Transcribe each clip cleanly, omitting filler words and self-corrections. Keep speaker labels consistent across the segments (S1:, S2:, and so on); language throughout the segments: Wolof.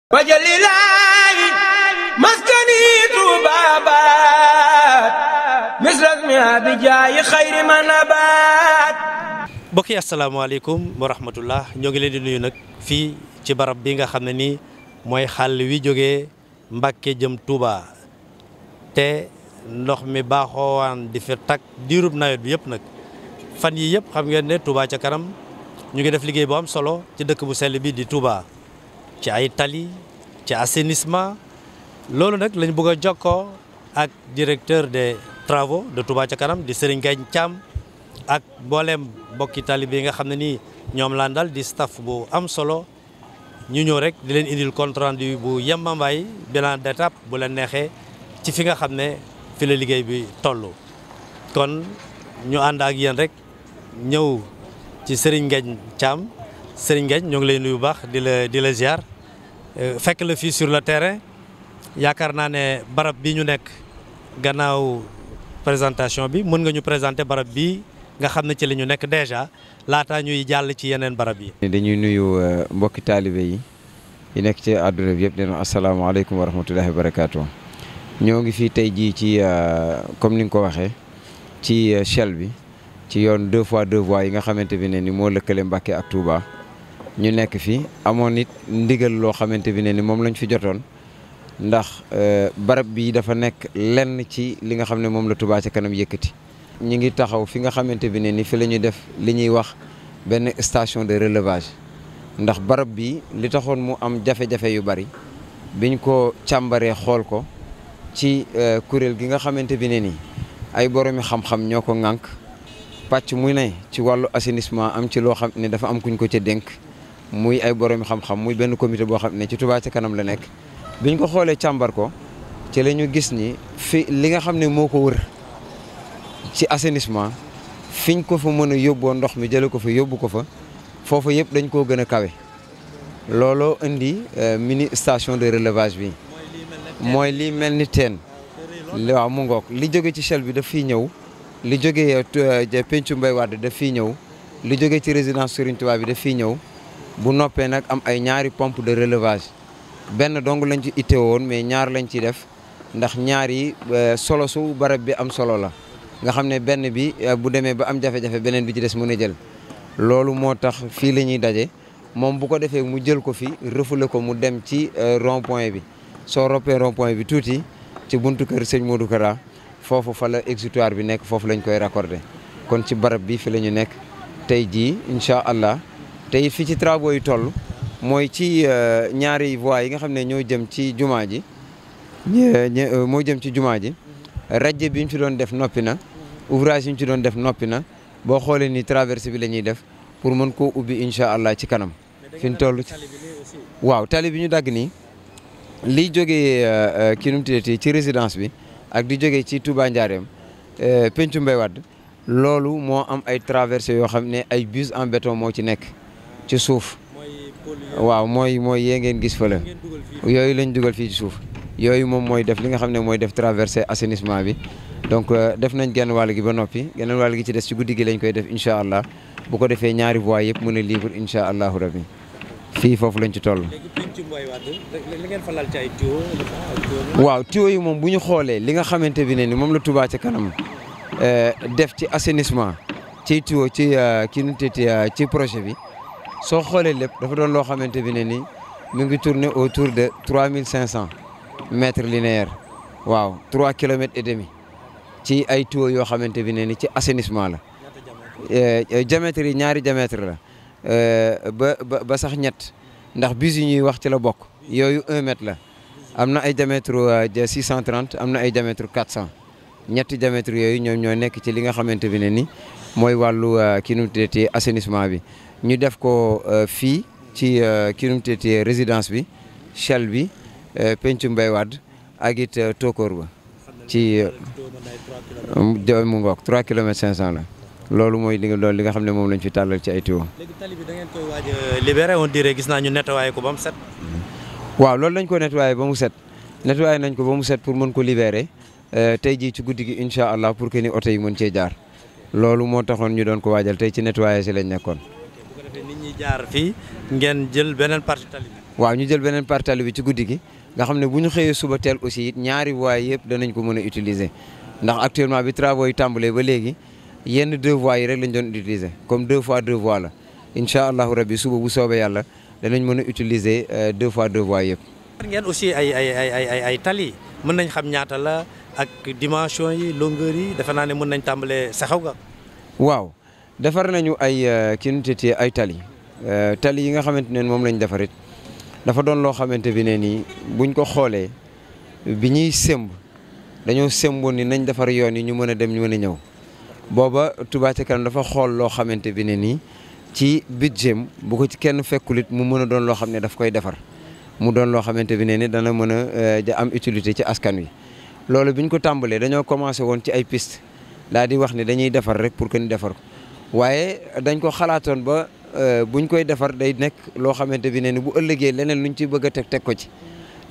S1: wajalilaayi maskani tuubaabaat misras mi abijaayi xayri ma nabaat.
S2: mbokk yi asalaamaaleykum wa rahmatullah ñoo ngi leen di nuyu nag fii ci barab bi nga xam ne nii mooy xàll wi jógee Mbàkke jëm Touba te ndox mi baaxoowaan di fi tag diirub nawet bi yëpp nag fan yi yëpp xam ngeen ne Touba ca kanam ñu ngi def liggéey bu am solo ci dëkk bu sell bi di Touba ci ay tali ci assainissement loolu nag lañ bëgg a jokkoo ak directeur des travaux de Touba ca kanam di Serigne Ngagne Thiam ak mbooleem mbokki talibé yi nga xam ne nii ñoom laan dal di staff bu am solo ñu ñëw rek di leen indil compte rendu bu yembambaay bilan d'étape bu leen neexee ci fi nga xam ne fi la liggéey bi toll. kon ñu ànd ak yéen rek ñëw ci Serigne Ngagne Thiam Serigne Ngagne ñoo ngi lay nuyu bu baax di la ziar fekk la fii sur le terrain yaakaar naa ne barab bi ñu nekk gannaaw présentation bi mën nga ñu présenter barab bi nga xam ne ci la ñu nekk déjà laata ñuy jàll ci yeneen barab yi.
S3: dañuy nuyu mbokki taalibe yi nekk ci àdduna bi yëpp di leen asalaamaaleykum wa rahmatullahi wa barakaatu. ñoo ngi fii tey jii ci comme ni nga ko waxee ci Shell bi ci yoon 2x2 voies yi nga xamante bi ne ni moo lëkkale Mbàkke ak Touba ñu nekk fi amoon nit ndigal loo xamante bi ne ni moom lañ fi jotoon ndax barab bi dafa nekk lenn ci li nga xam ne moom la Touba ca kanam yëkkati. ñu ngi taxaw fi nga xamante bi ne ni fi la ñuy def li ñuy wax benn station de relevage ndax barab bi li taxoon mu am jafe-jafe yu bari biñ ko càmbaree xool ko ci kuréel gi nga xamante bi ne ni ay boromi xam-xam ñoo ko ŋànk pàcc muy ne ci wàllu assainissement am ci loo xam ne dafa am kuñ ko ca dénk muy ay boromi xam-xam muy benn comité boo xam ne ci Touba ca kanam la nekk biñ ko xoolee càmbar ko ci la ñu gis ni fi li nga xam ne moo ko wër ci assainissement fiñ ko fa mën a yóbboo ndox mi jële ko fa yóbbu ko fa foofu yëpp dañ koo gën a kawe looloo indi mini station de relevage bi mooy lii mel ni teen waaw mu ngoog li jóge ci Shell bi daf fiy ñëw li jóge pencu Mbay Wàdd daf fiy ñëw li jóge ci résidence Serigne Touba bi daf fiy ñëw bu noppee nag am ay ñaari pompe de relevage benn dong lañ ci itte woon mais ñaar lañ ciy def ndax ñaar yi solo su barab bi am solo la nga xam ne benn bi bu demee ba am jafe-jafe beneen bi ci des mën a jël loolu moo tax fii la ñuy daje moom bu ko defee mu jël ko fi refoulé ko mu dem ci rond point bi soo roppee rond point bi tuuti ci buntu kër sëñ Modou Kara foofu fa la exutoire bi nekk foofu lañ koy raccordé kon ci barab bi fi la ñu nekk tey jii incha allah tey fi ci travaux yi toll mooy ci ñaari voies yi nga xam ne ñoo jëm ci jumaa ji moo jëm ci jumaa ji rajje bi ñu ci doon def noppi na ouvrage yi ñu ci doon def noppi na boo xoolee ni traversée bi la ñuy def pour mën koo ubbi incha allah ci kanam fi ñu toll waaw tali bi ñu dagg nii liy jógee kii nu mu tuddati ci résidence bi ak di jógee ci Touba Njaareem pencu Mbay Wàdd loolu moo am ay traversées yoo xam ne ay bus en béton moo ci nekk ci suuf waaw mooy yee ngeen gis fële yooyu lañ dugal fii ci suuf yooyu moom mooy def li nga xam ne mooy def traversée assainissement bi donc def nañ genn wàll gi ba noppi genn wàll gi ci des ci guddi gi lañ koy def incha allah bu ko defee ñaari voies yëpp mën a libre incha allahu rabbi fii foofu lañ ci toll. waaw tuyaux yi moom bu ñu xoolee li nga xamante bi ne ni moom la Touba ca kanam def ci assainissement ci tuyaux ci kii nu ci projet bi soo xoolee lépp dafa doon loo xamante bi ne ni mu ngi tourner autour de 3500 mètres linéaires waaw 3 kilomètres et demi ci ay tuyaux yoo xamante bi ne ni ci assainissement la diamètre yi ñaari diamètre la ba sax ñett ndax bus yi ñuy wax ci la bokk yooyu 1 mètre la am na ay diamètre 630 am na ay diamètre 400 ñetti diamètre yooyu ñoom ñoo nekk ci li nga xamante bi ne ni mooy wàllu kii nu mu tuddati assainissement bi ñu def ko fii ci kii nu mu tuddati résidence bi Shell bi pencu Mbay Wàdd ak it Tokor ba ci mu ngoog 3 kilomètres 500 la loolu mooy li nga xam ne moom lañ fi tàllal ci ay tuyaux.
S2: léegi tali bi da ngeen koy waaj a libéré on dirait gis naa ñu nettoyé ko ba mu set.
S3: waaw loolu lañ ko nettoyé ba mu set nettoyé nañ ko ba mu set pour mën ko libéré tey jii ci guddi gi incha allah pour que ni oto yi mën cee jaar loolu moo taxoon ñu doon ko waajal tey ci nettoyé si lañ nekkoon.
S2: bu ko defee nit ñi jaar fii ngeen jël beneen partie tali bi.
S3: waaw ñu jël beneen partie tali bi ci guddi gi nga xam ne bu ñu xëyee suba teel aussi it ñaari voies yëpp danañ ko mën a utiliser ndax actuellement bi travaux yi tàmbalee ba léegi yenn 2 voies yi rek lañ doon utiliser comme 2 fois 2 voies la incha allahu rabbi suba bu soobee yàlla danañ mën a utiliser 2 fois 2 voies yëpp.
S2: ngeen aussi ay tali mën nañ xam ñaata la ak dimension yi longueur yi defe naa ne mën nañ tàmbalee saxaw ga.
S3: waaw defar nañu ay ay tali yi nga xamante ne moom lañ defarit dafa doon loo xamante bi ne nii buñ ko xoolee bi ñuy sëmb dañoo sëmboon ni nañ defar yoon yi ñu mën a dem ñu mën a ñëw booba Touba Ca Kanam dafa xool loo xamante bi ne nii ci budget bu ko ci kenn fekkulit mu mën a doon loo xam ne daf koy defar mu doon loo xamante bi ne ni dana mën a am utilité ci askan wi. loolu bi ñu ko tàmbalee dañoo commencé woon ci ay piste daal di wax ne dañuy defar rek pour que ñu defar ko waaye dañ ko xalaatoon ba buñ koy defar day nekk loo xamante bi ne ni bu ëllëgee leneen luñ ci bëgg a teg ko ci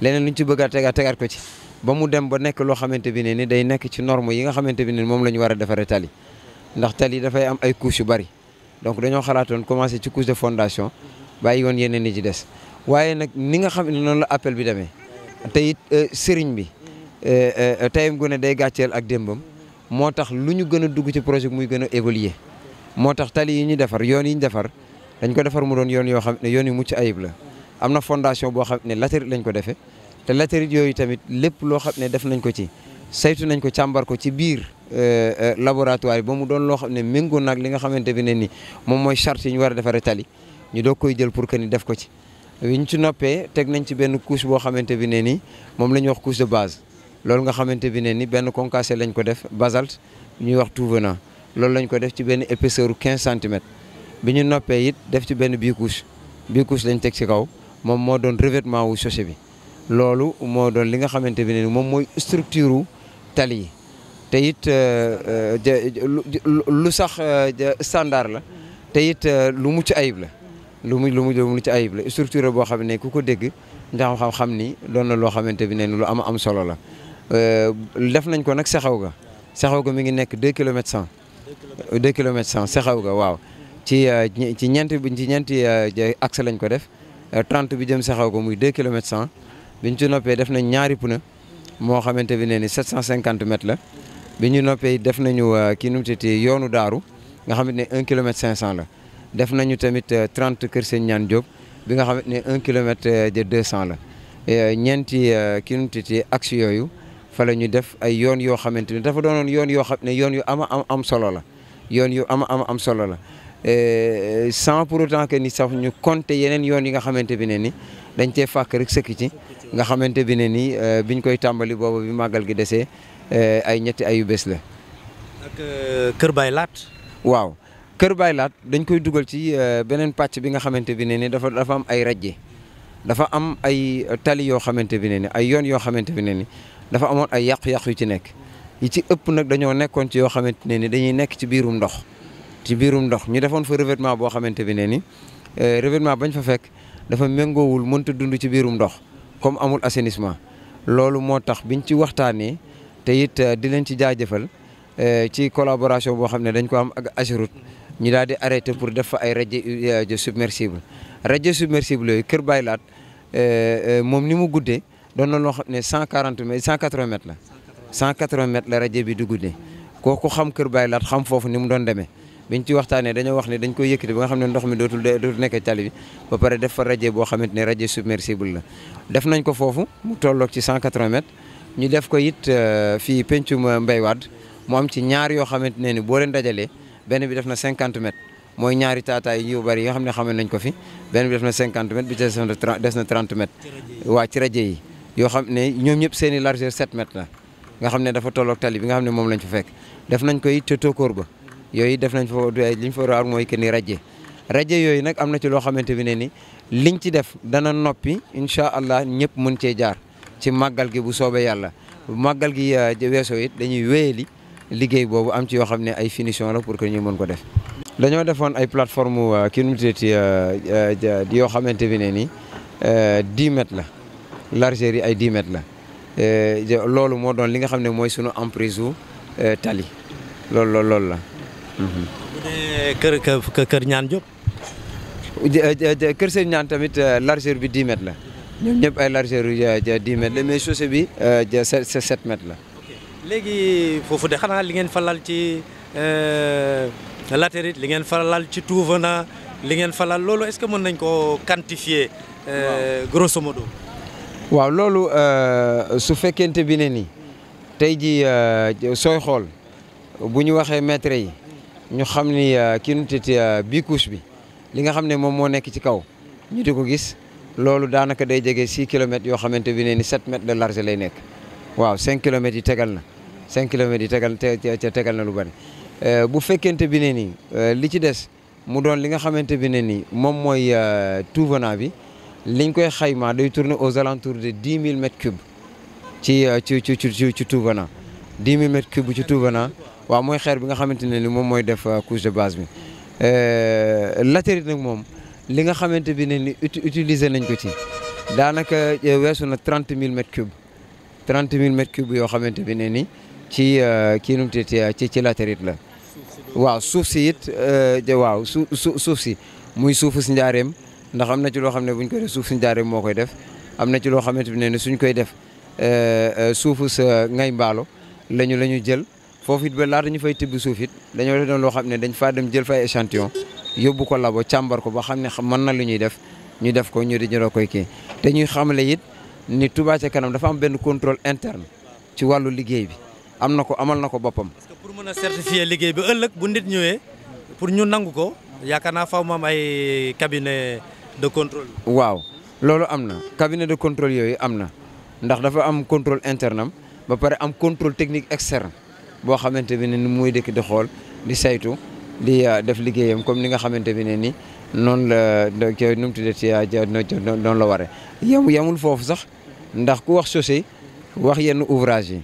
S3: leneen luñ ci bëgg a tegaat ko ci ba mu dem ba nekk loo xamante bi ne ni day nekk ci norme yi nga xamante bi ne ni moom la ñu war a defaree tali ndax tali dafay am ay couches yu bari donc dañoo xalaatoon commencé ci couche de fondation bàyyi woon yeneen ni ci des waaye nag ni nga xam ne noonu la appel bi demee te it sëriñ bi tayam gu ne day gàcceel ak démbam moo tax lu ñu gën a dugg ci projet muy gën a évoluer moo tax tali yi ñu defar yoon yi ñu defar dañ ko defar mu doon yoon yoo xam ne yoon yu mucc ayib la am na fondation boo xam ne latérite lañ ko defee te latérite yooyu tamit lépp loo xam ne def nañ ko ci saytu nañ ko càmbar ko ci biir laboratoire ba mu doon loo xam ne méngoo nag li nga xamante bi ne ni moom mooy charte yi ñu war a defaree tali ñu doog koy jël pour que ni def ko ci ñu ci noppee teg nañ ci benn couche boo xamante bi ne ni moom la ñuy wax couche de base loolu nga xamante bi ne ni benn concassé lañ ko def basalte ñuy wax tout venant loolu lañ ko def ci benn épaisseur 15 centimètres bi ñu noppee it def ci benn bicouche lañ teg ci kaw moom moo doon revêtement wu chaussée bi loolu moo doon li nga xamante bi ne ni moom mooy structure wu tali yi te it lu sax standard la te it lu mucc ayib la lu mucc ayib la structure boo xam ne ku ko dégg ndax xam ni doon na loo xamante bi ne ni lu am solo la def nañ ko nag saxaw ga mi ngi nekk 2 kilomètres 100 2 kilomètres 100 saxaw ga waaw ci ñeenti axe lañ ko def 30 bi jëm saxaw ga muy 2 kilomètres 100 biñ ci noppee def nañ ñaari pneu moo xamante bi ne ni 750 mètres la bi ñu noppee def nañu kii nu mu tuddati yoonu daaru nga xamante ne 1 kilomètre 500 la def nañu tamit 30 Kër Sëñ Ñaan Diop bi nga xamante ne 1 kilomètre de 200 la ñeenti kii nu mu tuddati axe yooyu fa la ñu def ay yoon yoo xamante ni dafa doonoon yoon yoo xam ne yoon yu am solo la yoon yu am solo la sans pour autant que ni sax ñu compter yeneen yoon yi nga xamante bi ne ni dañ cee fàkk rek sëkk ci nga xamante bi ne ni biñ koy tàmbali boobu bi màggal gi desee ay ñetti ayu bés la.
S2: ak Kër Baye Laat.
S3: waaw Kër Baye Laat dañ koy dugal ci beneen pàcc bi nga xamante bi ne ni dafa am ay rajje dafa am ay tali yoo xamante bi ne ni ay yoon yoo xamante bi ne ni dafa amoon ay yàqu-yàqu yu ci nekk yi ci ëpp nag dañoo nekkoon ci yoo xamante ne ni dañuy nekk ci biirum ndox ñu defoon fa revêtement boo xamante bi ne ni revêtement bañ fa fekk dafa méngoowul mënta dund ci biirum ndox comme amul assainissement loolu moo tax biñ ci waxtaanee te it di leen ci jaajëfal ci collaboration boo xam ne dañ ko am ak Ageroute ñu daal di arrêté pour def fa ay radier submersible yooyu Kër Baye Laat moom ni mu guddee doon na loo xam ne 180 mètres la 180 mètres la radier bi di guddee kooku xam Kër Baye Laat xam foofu ni mu doon demee biñ ci waxtaanee dañoo wax ne dañ koy yëkkati ba nga xam ne ndox mi dootul nekk tali bi ba pare def fa radier boo xamante ne radier submersible la def nañ ko foofu mu tolloog ci 180 mètres ñu def ko it fii pencum Mbay Wadd mu am ci ñaar yoo xamante ne ni boo leen dajalee benn bi def na 50 mètres mooy ñaari taataay yu bari yi nga xam ne xamee nañ ko fi benn bi def na 50 mètres bi des na 30 mètres waa ci radier yi yoo xam ne ñoom ñëpp seen i largeur 7 mètres la nga xam ne dafa tolloog tali bi nga xam ne moom lañ fa fekk def nañ ko it te tokkoor ba yooyu def nañ fa li ñu fa war mooy que ni radier yooyu nag am na ci loo xamante bi ne ni liñ ci def dana noppi incha allah ñëpp mën cee jaar ci màggal gi bu soobee yàlla bu màggal gi weesoo it dañuy wéyali liggéey boobu am ci yoo xam ne ay finition la pour que ñu mën ko def. dañoo defoon ay plateforme kii nu mu tuddati yoo xamante bi ne ni 10 mètres la largeur yi ay 10 mètres la loolu moo doon li nga xam ne mooy sunu emprise u tali loolu la.
S2: bu dee kër Ñaan Diop.
S3: Kër Sëñ Ñaan tamit largeur bi 10 mètres la. ñoom ñëpp ay largeur yu 10 mètres la mais chaussée bi c'est 7 mètres la.
S2: léegi foofu de xanaa li ngeen fa lal ci latérite li ngeen fa lal ci tout venant li ngeen fa lal loolu est-ce que mën nañ ko quantifier grosso modo.
S3: waaw loolu su fekkente bi ne nii tey ji sooy xool bu ñu waxee mètre yi ñu xam ni kii nu titi bii couche bi li nga xam ne moom moo nekk ci kaw ñu di ko gis loolu daanaka day jege 6 kilomètres yoo xamante bi ne ni 7 mètres de large lay nekk waaw 5 kilomètres yi tegal na 5 kilomètres yi tegal na lu bari bu fekkente bi ne nii li ci des mu doon li nga xamante bi ne nii moom mooy tout venant bi liñ koy xayma day tourner aux alentours de 10 000 mètres cubes ci tout venant 10 000 mètres cubes ci tout venant waaw mooy xeer bi nga xamante ne ni moom mooy def couche de base bi latérite nag moom li nga xamante bi ne ni utiliser nañ ko ci daanaka weesu na 30 000 mètres cubes 30 000 mètres cubes yoo xamante bi ne ni ci kii nu mu ci latérite la waaw suuf si it waaw suuf si muy suufu si njaareem ndax am na ci loo xam ne buñ koy def suuf si njaareem moo koy def am na ci loo xamante bi ne ni suñ koy def suufu sa ngay mbaalo la ñu jël foofu it ba laata ñu fay tibb suuf it dañoo def doon loo xam ne dañ faa dem jël fay échantillon yóbbu ko labo càmbar ko ba xam ne mën na lu ñuy def ñu def ko ñu di ñoroo koy kii te ñuy xamle it ni Touba ca kanam dafa am benn contrôle interne ci wàllu liggéey bi am na ko amal na ko boppam.
S2: parce que pour mën a certifier liggéey bi ëllëg bu nit ñëwee pour ñu nangu ko yaakaar naa faaw mu am ay cabinet de contrôle.
S3: waaw loolu am na cabinet de contrôle yooyu am na ndax dafa am contrôle interne am ba pare am contrôle technique externe boo xamante bi ne ni muy dëkk di xool di saytu di def liggéeyam comme ni nga xamante bi ne ni noonu la nu mu tuddee ci noonu la waree. yemul foofu sax ndax ku wax chaussée wax yenn ouvrage yi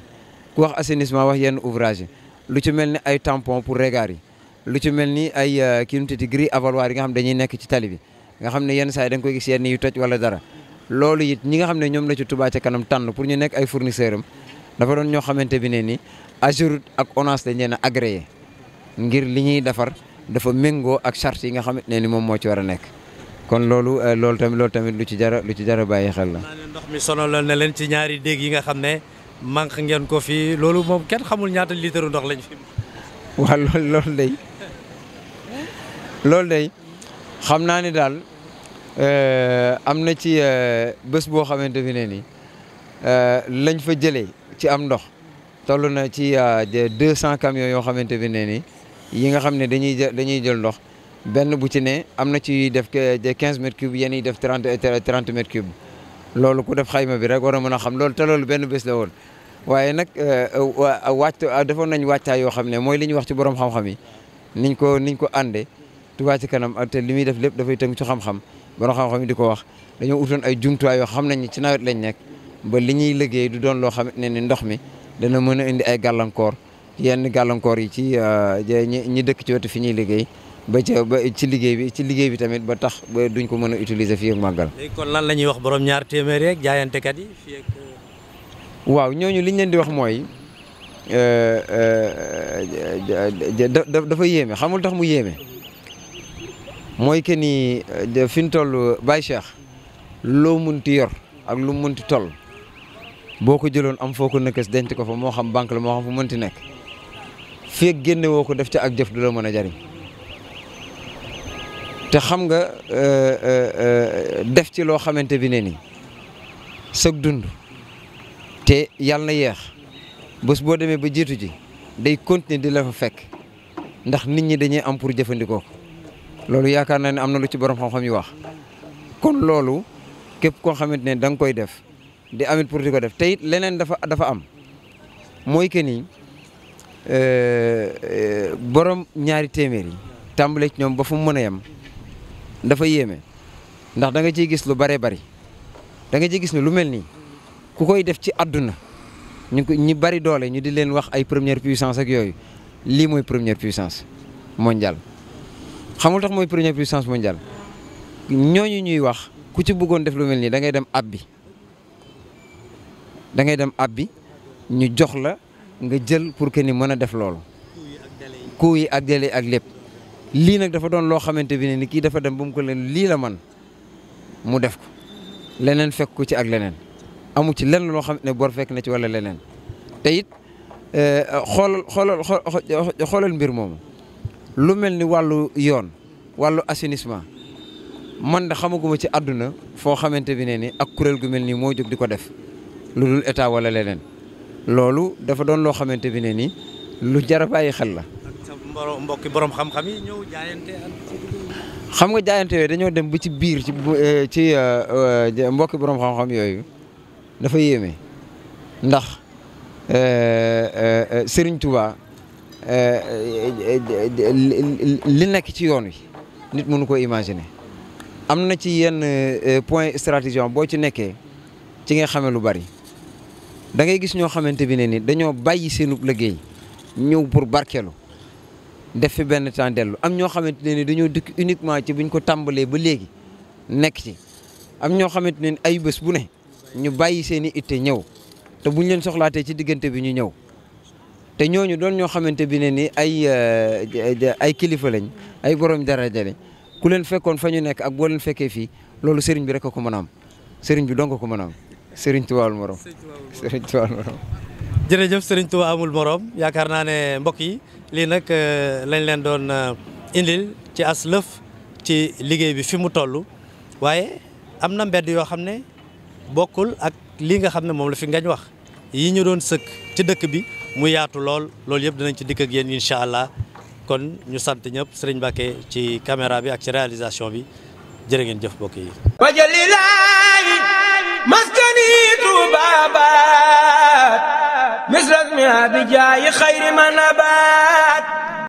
S3: ku wax assainissement wax yenn ouvrage yi lu ci mel ni ay tampon pour regard yi lu ci mel ni ay kii nu mu tuddee grille avaloir yi nga xam dañuy nekk ci tali bi nga xam ne yenn saa yi da nga koy gis yenn yu toj wala dara loolu it ñi nga xam ne ñoom la ci Touba ca kanam tànn pour ñu nekk ay fournisseur am dafa doon ñoo xamante bi ne ni AGEROUTE ak ONAS dañ leen a agréé ngir li ñuy defar dafa méngoo ak charte yi nga xamante ne ni moom moo ci war a nekk kon loolu tamit lu ci jar a bàyyi xel la.
S2: ndox mi sonaloon na leen ci ñaari déeg yi nga xam ne manque ngeen ko fii loolu moom kenn xamul ñaata litre ndox lañ fi.
S3: waaw loolu day xam naa ni daal am na ci bés boo xamante bi ne ni lañ fa jëlee ci am ndox toll na ci 200 camions yoo xamante bi ne ni yi nga xam ne dañuy jël ndox benn bu ci ne am na ci def 15 mètres cubes yenn yi def 30 mètres cubes loolu ku def xayma bi rek war a mën a xam loolu te loolu benn bés la woon waaye nag defoon nañ wàccaay yoo xam ne mooy li ñuy wax ci borom xam-xam yi niñ ko àndee Touba ca kanam te li muy def lépp dafay tënk ci xam-xam borom xam-xam yi di ko wax dañoo utoon ay jumtuwaay yoo xam nañ ci nawet lañ nekk ba li ñuy liggéey du doon loo xam ne ni ndox mi dana mën a indi ay gàllankoor yenn gàllankoor yi ci ñi dëkk ci wetu fi ñuy liggéey ba ci liggéey bi tamit ba tax ba duñ ko mën a utiliser fii ak màggal.
S2: léegi kon lan la ñuy wax borom ñaar téeméer yeeg jaayantekat yi fii ak.
S3: waaw ñooñu liñ leen di wax mooy dafa yéeme xamul tax mu yéeme mooy que ni fi ñu toll Baye Cheikh loo munti yor ak lu munti toll boo ko jëloon am foo ko nëkkës denc ko fa moo xam banque la moo xam fu mënti nekk fii ak génne woo ko def ca ak jëf du la mën a jariñ te xam nga def ci loo xamante bi ne ni sëg dund te yàlla na yeex bés boo demee ba jiitu ji day continuer di la fa fekk ndax nit ñi dañuy am pour jëfandikoo loolu yaakaar naa ne am na lu ci borom xam-xam yi wax kon loolu képp koo xamante ne da nga koy def di amit pour di ko def te it leneen dafa am mooy que ni borom ñaari téeméer yi tàmbale ci ñoom ba fu mu mën a yem dafa yéeme ndax da nga ciy gis lu bare bari da nga ciy gis ne lu mel nii ku koy def ci àdduna ñi bari doole ñu di leen wax ay première puissance ak yooyu lii mooy première puissance mondiale. xamul tax mooy première puissance mondiale ñooñu ñuy wax ku ci bëggoon def lu mel nii da ngay dem abbi ñu jox la nga jël pour que ni mën a def loolu. coût yi ak délai ak lépp lii nag dafa doon loo xamante bi ne ni kii dafa dem ba mu ko leen lii la man mu def ko leneen fekk ko ci ak leneen amu ci lenn loo xam ne bor fekk na ci wala leneen te it xoolal mbir moomu lu mel ni wàllu yoon wàllu assainissement man da xamaguma ci àdduna foo xamante bi ne ni ak kuréel gu mel nii moo jóg di ko def lu dul état wala leneen loolu dafa doon loo xamante bi ne ni lu jar a bàyyi xel la.
S2: mbokki borom xam-xam yi ñëw jaayante
S3: xam nga jaayante yooyu dañoo dem ba ci biir ci mbokki borom xam-xam yooyu dafa yéeme ndax Serigne Touba li nekk ci yoon wi nit mënu ko imaginer am na ci yenn point stratégique boo ci nekkee ci nga xamee lu bari da ngay gis ñoo xamante bi ne ni dañoo bàyyi seenub liggéey ñëw pour barkeelu def fi benn temps dellu am ñoo xamante ne ni dañoo dëkk uniquement ci buñ ko tàmbalee ba léegi nekk ci am ñoo xamante ne ni ay bés bu ne ñu bàyyi seen i itte ñëw te buñ leen soxlaatee ci diggante bi ñu ñëw te ñooñu doon ñoo xamante bi ne ni ay kilifa lañ ay borom daraja lañ ku leen fekkoon fa ñu nekk ak boo leen fekkee fii loolu sëriñ bi rek a ko mën a am sëriñ bi dong ko mën a am sëriñ Tuubaa amul morom sëriñ Tuubaa amul morom.
S2: jërëjëf sëriñ Tuubaa amul morom yaakaar naa ne mbokk yi lii nag lañ leen doon indil ci as lëf ci liggéey bi fi mu toll waaye am na mbedd yoo xam ne bokkul ak lii nga xam ne moom la fi ngañ wax yi ñu doon sëkk ci dëkk bi mu yaatu lool loolu yëpp dinañ ci dikk ak yéen incha allah kon ñu sant ñëpp sëriñ Mbacké ci caméra bi ak ci réalisation bi jërë ngeen jëf mbokk yi.
S1: wajalilaahi maskani tuubaabaat misras mi abijaayi xayri ma nabaat